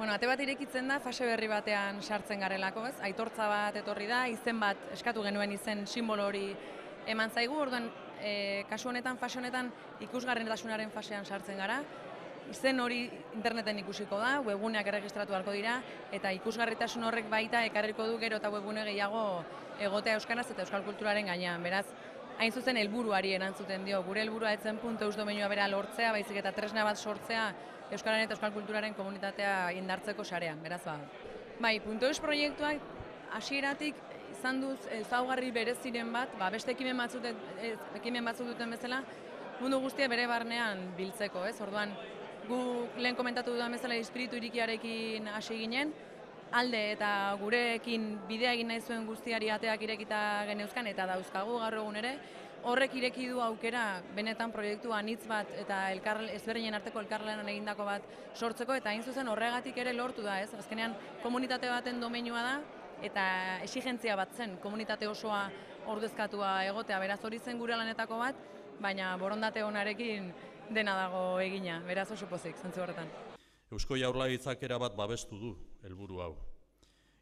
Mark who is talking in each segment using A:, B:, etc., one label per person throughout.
A: Bueno, ate bat irekitzen da fase berri batean sartzen garelako, ez? Aitortza bat etorri da, izen bat eskatu genuen izen simbolo hori eman zaigu, orduan kasu honetan, fase honetan ikusgarritasunaren fasean sartzen gara. Izen hori interneten ikusiko da, webguneak erregistratu halko dira, eta ikusgarritasun horrek baita ekarriko du gero eta webgune gehiago egotea euskaraz eta euskal kulturaren gainean. Beraz, hain zuzen helburuari erantzuten dio. Gure helburua ez zen .eus domeinua bera lortzea, baizik eta tresna bat sortzea euskararen eta euskal kulturaren komunitatea indartzeko sarean, beraz ba. Bai, .eus proiektuak hasieratik izan duz ezaugarri bereziren bat, beste ekimen batzuk duten bezala, mundu guztia bere barnean biltzeko, ez? Orduan, gu lehen komentatu dudan bezala espiritu irikiarekin hasi ginen, alde eta gurekin bidea egin nahi zuen guztiari ateak irekita geneuzkan eta dauzkagu gaur egun ere, horrek ireki du aukera benetan proiektu anitz bat eta ezberdinen arteko elkarlanan egindako bat sortzeko, eta hain zuzen horregatik ere lortu da, ez? Azkenean komunitate baten domeinua da eta exigentzia bat zen komunitate osoa ordezkatua egotea, beraz hori zen gure lanetako bat, baina borondate onarekin dena dago egina, beraz oso pozik, zentzu horretan.
B: Eusko Jaurlaritzak erabat babestu du helburu hau.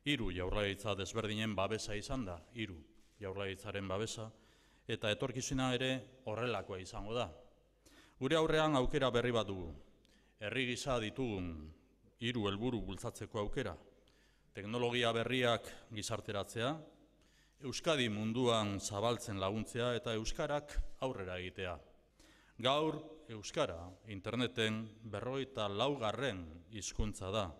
B: 3 jaurlaritza desberdinen babesa izan da, 3 jaurlaritzaren babesa, eta etorkizuna ere horrelakoa izango da. Gure aurrean aukera berri bat dugu. Herri gisa ditugun 3 helburu bultzatzeko aukera. Teknologia berriak gizarteratzea, Euskadi munduan zabaltzen laguntzea eta euskarak aurrera egitea. Gaur, euskara interneten 54. hizkuntza da.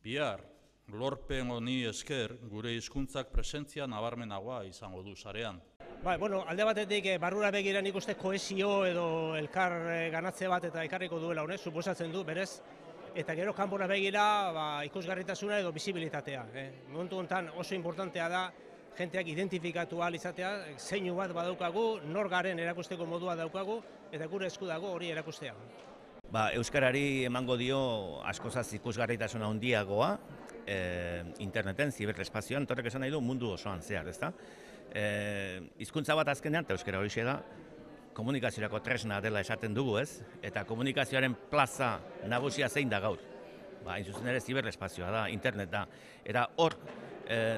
B: Bihar, lorpen honi esker gure hizkuntzak presentzia nabarmenagoa izango du sarean.
C: Alde batetik barrura begira nik uste kohesio edo elkar ganatze bat eta ekarriko duela honek, suposatzen du, berez, eta gero kanpora begira ikusgarritasuna edo bisibilitatea. Momentu honetan oso importantea da jenteak identifikatu ahal izatea, zeinu bat badaukagu, nor garen erakusteko modua daukagu, eta gure esku dago hori erakustea.
D: Euskarari emango dio askozaz ikusgarritasuna handiagoa interneten, ziberespazioan, torrek esan nahi du mundu osoan zehar, ezta? Hizkuntza bat azkenean, eta euskara horixe da, komunikaziorako tresna dela esaten dugu, ez? Eta komunikazioaren plaza nagusia zein da gaur. Hain zuzen ere ziberespazioa da, internet da. Eta hor,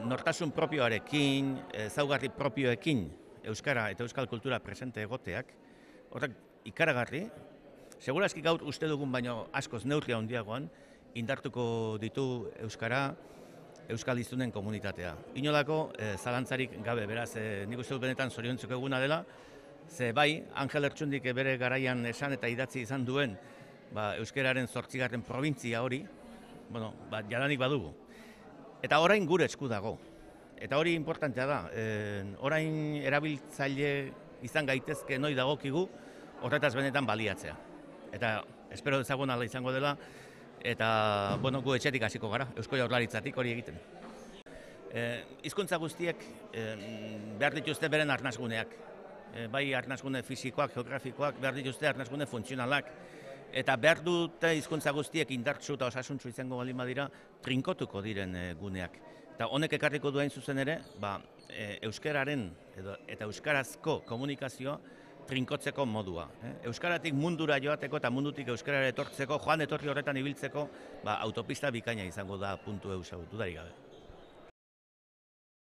D: nortasun propioarekin, ezaugarri propioekin euskara eta euskal kultura presente egoteak, horrek ikaragarri, segurazki gaur uste dugun baino askoz neurria handiagoan, indartuko ditu euskara, euskal hiztunen komunitatea. Inolako zalantzarik gabe, beraz, nik uste dut benetan zoriontzeko eguna dela, ze bai, Angel Ertxundik bere garaian esan eta idatzi izan duen euskararen 8. probintzia hori, jadanik badugu. Eta orain gure esku dago. Eta hori importantea da. Orain erabiltzaile izan gaitezke noi dagokigu, horretaz benetan baliatzea. Eta espero dezagun ala izango dela, eta gu etxetik hasiko gara, Eusko Jaurlaritzatik hori egiten. Hizkuntza guztiek behar dituzte beren arnasguneak. Bai arnasgune fisikoak, geografikoak, behar dituzte arnasgune funtzionalak. Eta behar dute hizkuntza guztiek indartsu eta osasuntsu izango baldin badira, trinkotuko diren guneak. Eta honek ekarriko duen zuzen ere, euskararen eta euskarazko komunikazioa trinkotzeko modua. Euskaratik mundura joateko eta mundutik euskarara etortzeko, joan etorri horretan ibiltzeko, autopista bikaina izango da .eus hau, dudarik gabe.